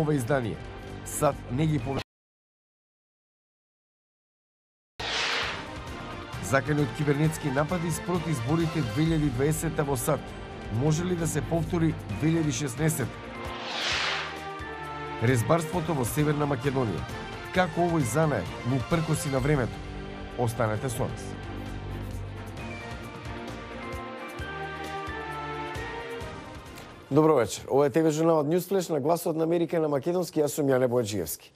ова издание. САД не ги повлече. Закани од кибернетски напади спроти изборите 2020 во САД. Може ли да се повтори 2016? Резбарството во Северна Македонија. Како овој занае му пркоси на времето? Останете со нас. Добро вечер. Ова е ТВ журналот Newsflash на Гласот на Америка на македонски. Јас сум Јане Бојаджиевски.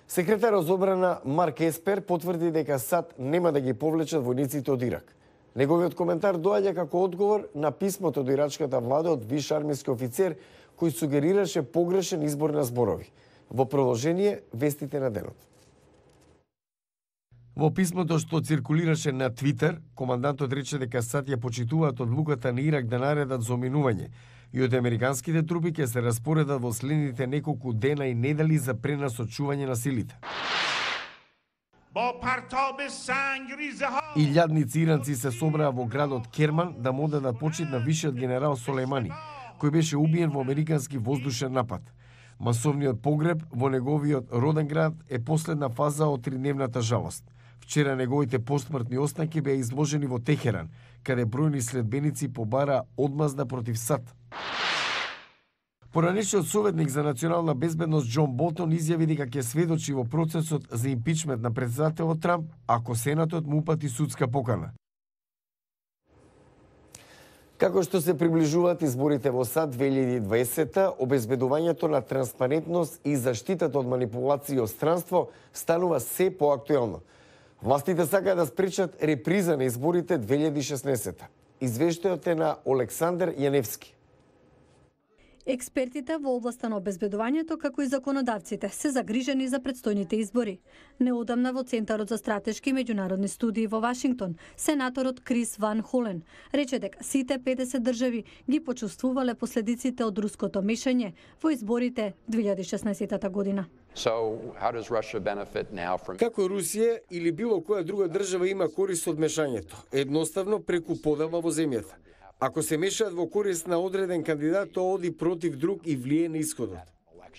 Секретарот за одбрана Марк Еспер потврди дека САД нема да ги повлечат војниците од Ирак. Неговиот коментар доаѓа како одговор на писмото до ирачката влада од виш армиски офицер кој сугерираше погрешен избор на зборови. Во продолжение, вестите на денот. Во писмото што циркулираше на Твитер, командантот рече дека САД ја почитуваат одлуката на Ирак да наредат за оминување и од американските трупи ќе се распоредат во следните неколку дена и недели за пренасочување на силите. Илјадници иранци се собраа во градот Керман да му дадат почит на висшиот генерал Солејмани, кој беше убиен во американски воздушен напад. Масовниот погреб во неговиот роден град е последна фаза од тридневната жалост. Вчера неговите постсмртни останки беа изложени во Техеран, каде бројни следбеници побара одмазда против САД. Поранешниот советник за национална безбедност Џон Болтон изјави дека ќе сведочи во процесот за импичмент на претседателот Трамп ако Сенатот му упати судска покана. Како што се приближуваат изборите во САД 2020, обезбедувањето на транспарентност и заштитата од манипулации и одстранство станува се поактуелно. Властите сакаат да спречат реприза на изборите 2016. Извештајот е на Олександар Јаневски. Експертите во областа на обезбедувањето, како и законодавците, се загрижени за предстојните избори. Неодамна во Центарот за стратешки меѓународни студии во Вашингтон, сенаторот Крис Ван Холен рече дека сите 50 држави ги почувствувале последиците од руското мешање во изборите 2016 година. Како Русија или било која друга држава има корист од мешањето? Едноставно преку подава во земјата. Ако се мешаат во корист на одреден кандидат, тоа оди против друг и влие на исходот.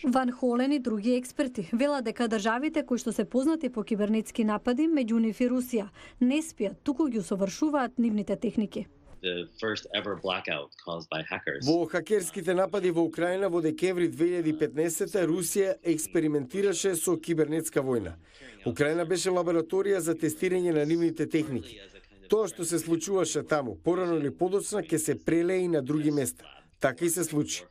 Ван Холен и други експерти велат дека државите кои што се познати по кибернетски напади, меѓу нив и Русија, не спијат, туку ги усовршуваат нивните техники. Во хакерските напади во Украина во декември 2015 Русија експериментираше со кибернетска војна. Украина беше лабораторија за тестирање на нивните техники. Тоа што се случуваше таму, порано или подоцна, ќе се прелее и на други места. Така и се случи.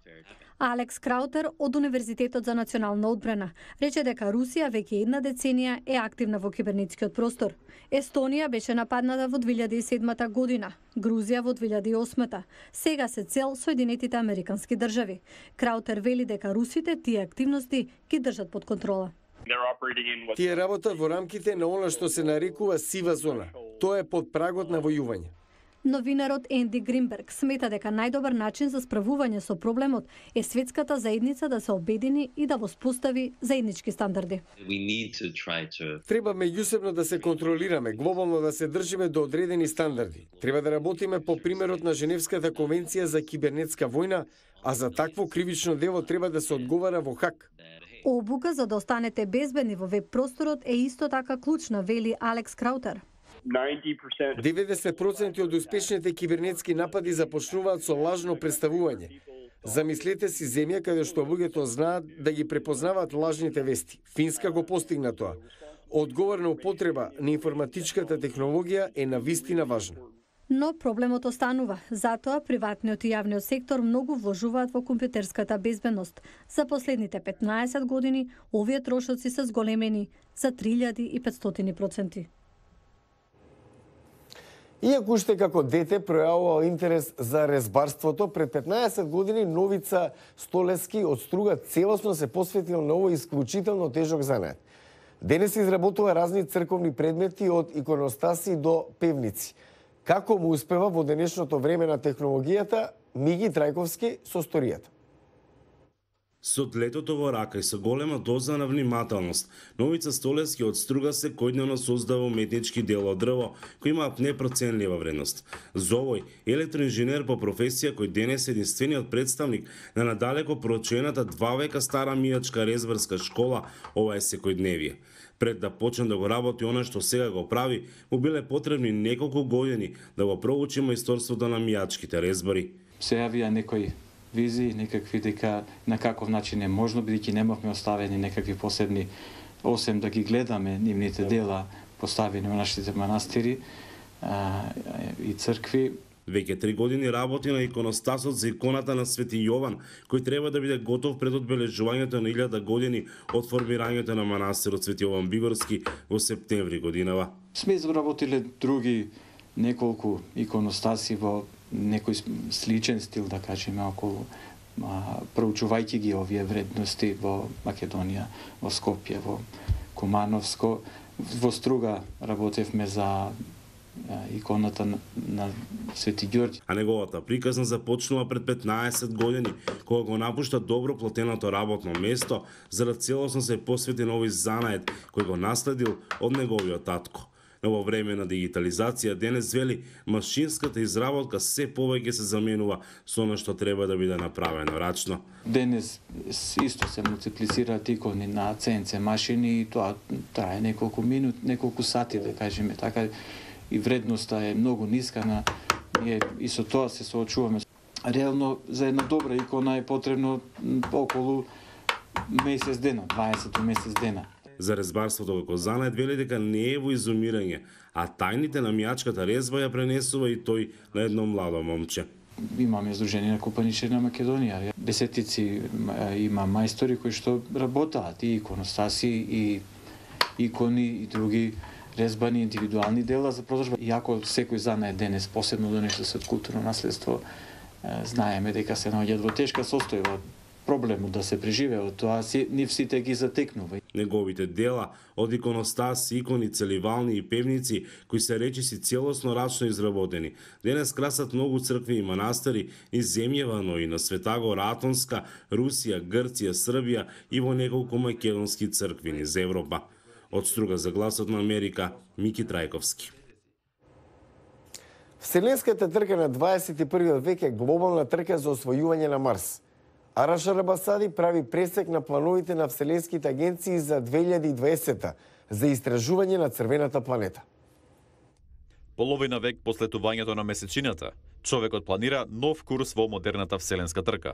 Алекс Краутер од Универзитетот за национална одбрана рече дека Русија веќе една деценија е активна во кибернетскиот простор. Естонија беше нападната во 2007 година, Грузија во 2008. Сега се цел Соединетите Американски држави. Краутер вели дека русите тие активности ги држат под контрола. Тие работат во рамките на она што се нарекува сива зона. Тоа е под прагот на војување. Новинарот Енди Гринберг смета дека најдобар начин за справување со проблемот е светската заедница да се обедини и да воспостави заеднички стандарди. Треба меѓусебно да се контролираме, глобално да се држиме до одредени стандарди. Треба да работиме по примерот на Женевската конвенција за кибернетска војна, а за такво кривично дело треба да се одговара во Хаг. Обука за да останете безбедни во веб просторот е исто така клучна, вели Алекс Краутер. 90% од успешните кибернетски напади започнуваат со лажно представување. Замислете си земја каде што луѓето знаат да ги препознаваат лажните вести. Финска го постигна тоа. Одговорна употреба на информатичката технологија е навистина важна. Но проблемот останува. Затоа приватниот и јавниот сектор многу вложуваат во компјутерската безбедност. За последните 15 години овие трошоци се зголемени за 3500%. Иако уште како дете пројавувал интерес за резбарството, пред 15 години Новица Столески од Струга целосно се посветил на овој исклучително тежок занет. Денес изработува разни црковни предмети од иконостаси до певници. Како му успева во денешното време на технологијата, Миги Трајковски со сторијата. Со летото во рака и со голема доза на внимателност, Новица Столевски од Струга секојдневно создава уметнички дела од дрво кои имаат непроценлива вредност. Зовој, електроинженер по професија кој денес е единствениот представник на надалеко проучената 2 века стара мијачка резбарска школа, ова е секојдневие. Пред да почне да го работи она што сега го прави, му биле потребни неколку години да го проучи мајсторството на мијачките резбари. Се јавија некои визии, некакви дека на каков начин е можно, бидејќи немавме оставени некакви посебни, осем да ги гледаме нивните дела поставени во нашите манастири и цркви. Веќе 3 години работи на иконостасот за иконата на Свети Јован, кој треба да биде готов пред одбележувањето на 1000 години од формирањето на манастирот Свети Јован Бигорски во септември годинава. Сме изработиле други неколку иконостаси во некој сличен стил, да кажеме, околу проучувајќи ги овие вредности во Македонија, во Скопје, во Кумановско. Во Струга работевме за иконата на Свети Ѓорѓи. А неговата приказна започнува пред 15 години, кога го напушта добро платеното работно место, за да целосно се посвети на овој занает кој го наследил од неговиот татко. Но во време на дигитализација денес вели машинската изработка се повеќе се заменува со она што треба да биде направено рачно. Денес исто се мултиплицираат икони на CNC машини и тоа трае неколку минути, неколку сати, да кажеме така, и вредноста е многу ниска на ние и со тоа се соочуваме. Реално за една добра икона е потребно околу месец дена, 20 месец дена. За резбарството како занает вели дека не е во изумирање, а тајните на мијачката резба ја пренесува и тој на едно младо момче. Имаме Сдружение на купаничари на Македонија. Десетици има мајстори кои што работаат и иконостаси и икони и други резбани индивидуални дела за продажба. Иако секој занает денес, посебно до нешто со културно наследство, знаеме дека се наоѓаат во тешка состојба. Проблемот да се преживее од тоа нив сите ги затекнува. Неговите дела од иконостаси, икони, целивални и певници кои се речиси целосно рачно изработени, денес красат многу цркви и манастири и земјава, но и на Светагора, Атонска, Русија, Грција, Србија и во неколку македонски цркви низ Европа. Од Струга за гласот на Америка, Мики Трајковски. Вселенската трка на 21 век е глобална трка за освојување на Марс. Араша Рабасади прави пресек на плановите на вселенските агенции за 2020 за истражување на црвената планета. Половина век по слетувањето на месечината, човекот планира нов курс во модерната вселенска трка.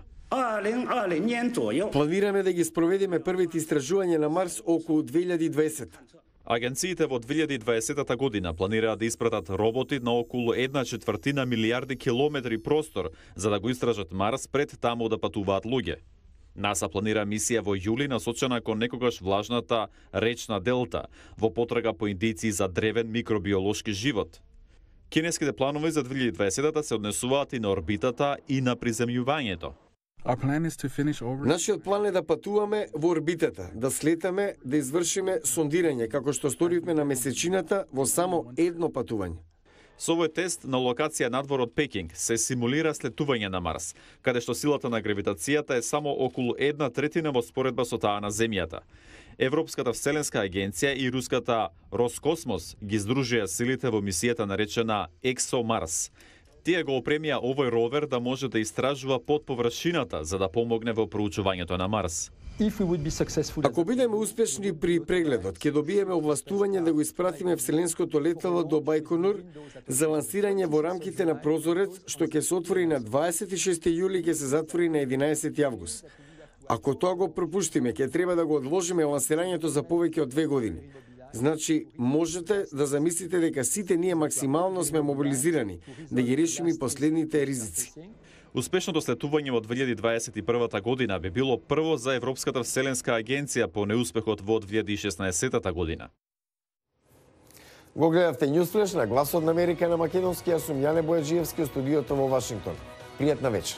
Планираме да ги спроведеме првите истражувања на Марс околу 2020. Агенциите во 2020 година планираат да испратат роботи на околу 1/4 милијарди километри простор за да го истражат Марс пред таму да патуваат луѓе. НАСА планира мисија во јули насочена кон некогаш влажната речна делта во потрага по индици за древен микробиолошки живот. Кинеските планови за 2020 се однесуваат и на орбитата и на приземјувањето. Нашиот план е да патуваме во орбитата, да слетаме, да извршиме сондирање, како што сторивме на месечината во само едно патување. Со овој тест на локација надвор од Пекинг се симулира слетување на Марс, каде што силата на гравитацијата е само околу 1/3 во споредба со таа на Земјата. Европската вселенска агенција и руската Роскосмос ги здружија силите во мисијата наречена ExoMars. Тие го опремија овој ровер да може да истражува под површината за да помогне во проучувањето на Марс. Ако бидеме успешни при прегледот, ќе добиеме овластување да го испратиме вселенското летало до Бајконур за лансирање во рамките на прозорец, што ќе се отвори на 26 јули и ќе се затвори на 11 август. Ако тоа го пропуштиме, ќе треба да го одложиме лансирањето за повеќе од 2 години. Значи, можете да замислите дека сите ние максимално сме мобилизирани да ги решиме последните ризици. Успешното слетување во 2021 година би било прво за Европската вселенска агенција по неуспехот во 2016 година. Го гледавте Newsflash на Гласот на Америка на македонски, јас сум Јане Бојаджиевски од студиото во Вашингтон. Пријатна вечер.